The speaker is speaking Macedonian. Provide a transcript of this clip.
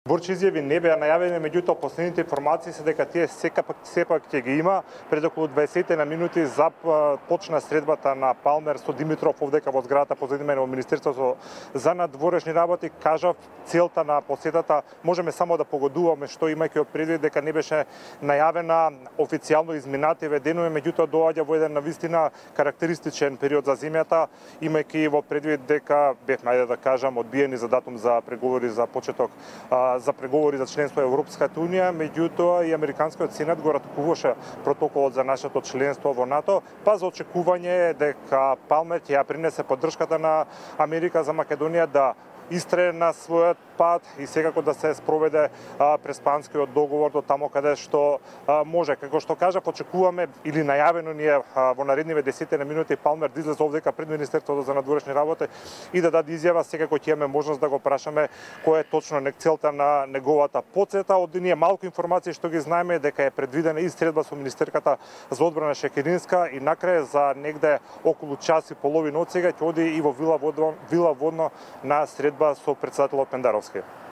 Борчи изјави не беа најавени, меѓутоа последните информации се дека тие сепак ќе ги има. Пред околу 20 на минути почна средбата на Палмер со Димитров овдека во зградата позади мене во Министерството за надворешни работи. Кажав, целта на посетата можеме само да погодуваме што имајќи предвид дека не беше најавена официјално изминативе денови, меѓутоа доаѓа во еден навистина карактеристичен период за земјата, имајќи во предвид дека бевме, ајде да кажам, одбиени за датум за преговори за почеток за преговори за членство во Европската унија, меѓутоа и Американскиот сенат го ратификуваше протоколот за нашето членство во НАТО, па за очекување дека Палмер ќе ја принесе поддршката на Америка за Македонија да истрае на својот пат и секако да се спроведе преспанскиот договор до тамо каде што може. Како што кажав, очекуваме или најавено ни е во наредниве 10 на минути Палмер да излезе овдека пред Министерството за надворешни работи и да даде изјава. Секако ќе имаме можност да го прашаме која е точно целта на неговата посета. Од ние малку информации што ги знаеме дека е предвидена и средба со министерката за одбрана Шекеринска и накрај за негде околу час и половина од сега ќе оди и во Вила Водно на средба со претседателот Пендаровски.